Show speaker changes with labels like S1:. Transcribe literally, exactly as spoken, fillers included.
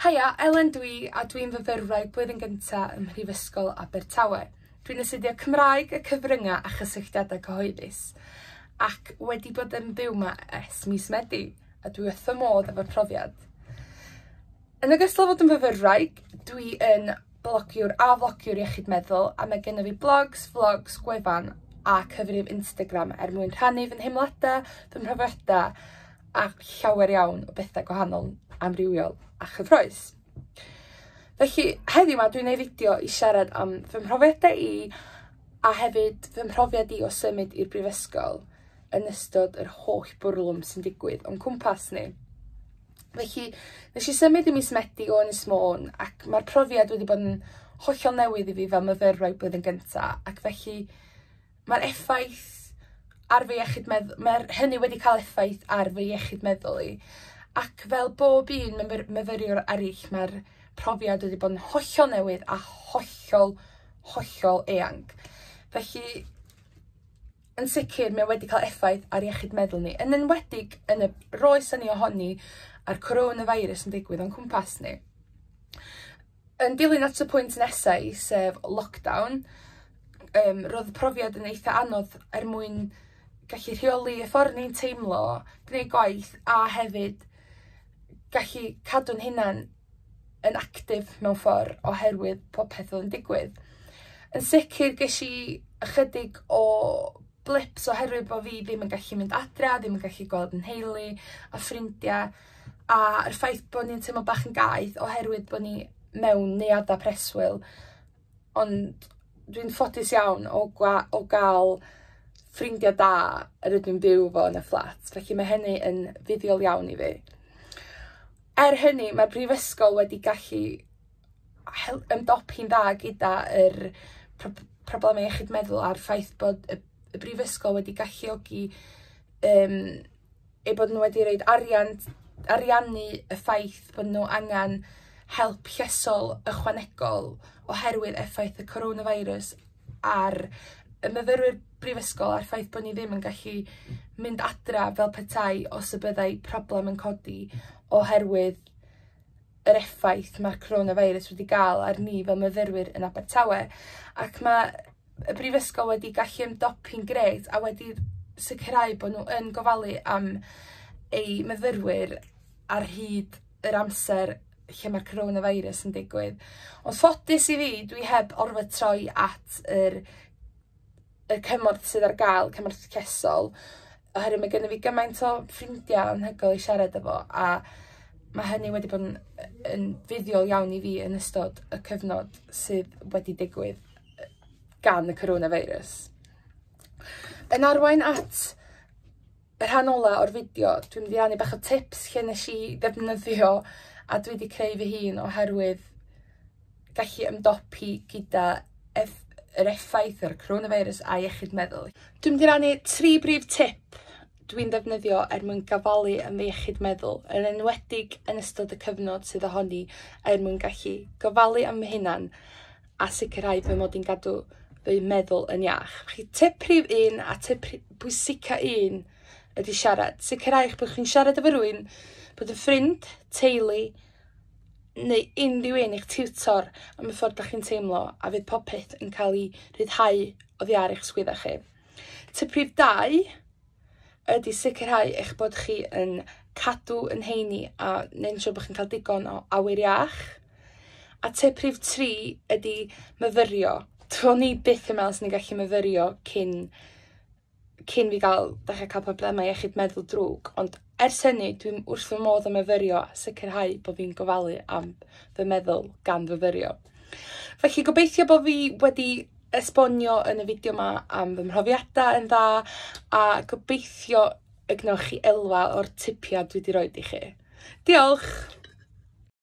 S1: Haia, Elen dwi, a dwi'n fyfyrwraig blwyddyn gynta ym Mhrifysgol Abertawe. Dwi'n astudio Cymraeg, y cyfryngau a chysylltiadau cyhoeddus, ac wedi bod yn byw 'ma ers mis Medi, a dwi wrth fy modd efo'r profiad. Yn ogystal â fod yn fyfyrwraig, dwi yn blogiwr a flogiwr iechyd meddwl, a mae gennym fi blogs, vlogs, gwefan a cyfrif Instagram er mwyn rhannu fy nheimladau, fy mhrofiadau a llawer iawn o bethau gwahanol, amrywiol a chyffrous. Felly heddiw 'ma dwi'n gwneud fideo i siarad am fy mhrofiadau i a hefyd fy mhrofiad i o symud i'r brifysgol yn ystod yr holl bwrlwm sy'n digwydd o'n cwmpas ni. Felly nes i symud i mis Medi o Ynys Môn, ac mae'r profiad wedi bod yn hollol newydd i fi fel myfyrwraig blwyddyn gynta, ac felly mae'r effaith ar fy iechyd meddwl, mae'r hynny wedi cael effaith ar fy iechyd meddwl i. Ac fel bob un myfyr myfyriwr arall, mae'r profiad wedi bod yn hollol newydd a hollol, hollol eang. Felly, yn sicr, mae wedi cael effaith ar iechyd meddwl ni, yn enwedig yn y roes ni ohoni a'r coronavirus yn digwydd o'n cwmpas ni. Yn dilyn at y pwynt nesaf, sef lockdown, um, roedd y profiad yn eitha anodd er mwyn gallu rheoli y ffordd ni'n teimlo, gwneud gwaith a hefyd gallu cadw'n hunan yn actif mewn ffordd oherwydd popeth oedd yn digwydd. Yn sicr ges i ychydig o blips oherwydd bod fi ddim yn gallu mynd adra, ddim yn gallu gweld yn nheulu a ffrindiau, a'r ffaith bod ni'n teimlo bach yn gaeth oherwydd bod ni mewn neuaddau preswyl. Ond dwi'n ffodus iawn o, o gael ffrindiau da yr ydw i'n byw fo yn y fflat, felly mae hynny yn fuddiol iawn i fi. Er hynny, mae'r brifysgol wedi gallu ymdopi'n dda gyda yr pro problemau iechyd meddwl a'r ffaith bod y, y brifysgol wedi galluogi um, eu bod nhw wedi rhoid arian, ariannu y ffaith bod nhw angen help llesol ychwanegol oherwydd effaith y coronavirus ar y myfyrwyr brifysgol a'r ffaith bod ni ddim yn gallu mynd adra fel petai os y byddai problem yn codi oherwydd yr effaith mae'r coronavirus wedi gael ar ni fel myfyrwyr yn Abertawe. Ac mae y brifysgol wedi gallu ymdopi'n grêt a wedi sicrhau bod nhw yn gofalu am eu myfyrwyr ar hyd yr amser lle mae'r coronavirus yn digwydd. Ond ffodus i fi, dwi heb orfod troi at yr, y cymorth sydd ar gael, cymorth llesol, oherwydd mae gennym fi gymaint o ffrindiau anhygoel i siarad efo, a mae hynny wedi bod yn, yn fuddiol iawn i fi yn ystod y cyfnod sydd wedi digwydd gan y coronavirus. Yn arwain at y rhan ola o'r fideo, dwi'n mynd i rannu bach o tips lle nes i ddefnyddio a dwi wedi creu fy hun oherwydd gallu ymdopi gyda eff yr effaith o'r coronavirus a iechyd meddwl. Dwi'n mynd i rannu tri brif tip dwi'n defnyddio er mwyn gofalu am fy iechyd meddwl, yn enwedig yn ystod y cyfnod sydd ohoni, er mwyn gallu gofalu am fy hunan a sicrhau fy mod i'n gadw fy meddwl yn iach. Felly tip rhif un a tip pwysica un ydy siarad. Sicrhau eich bod chi'n siarad efo rhywun, bod yn ffrind, teulu, neu unrhyw un, eich tiwtor am y ffordd da chi'n teimlo, a fydd popeth yn cael ei rhyddhau oddi ar eich sgwydda chi. Tip rhif dau ydy sicrhau eich bod chi yn cadw yn heini a neu'n siŵr bod chi'n cael digon o awyr iach. A tip rhif tri ydy myfyrio. Do'n i byth yn meddwl swn i'n gallu myfyrio cyn, cyn fi gael, dechrau cael problemau iechyd meddwl drwg, ond ers hynny dwi'n wrth fy modd o myfyrio a sicrhau bod fi'n gofalu am fy meddwl gan fyfyrio. Felly gobeithio bod fi wedi esbonio yn y fideo yma am fy mhrofiadau yn dda, a gobeithio y gwnewch chi elwa o'r tipiau dwi wedi roid i chi. Diolch!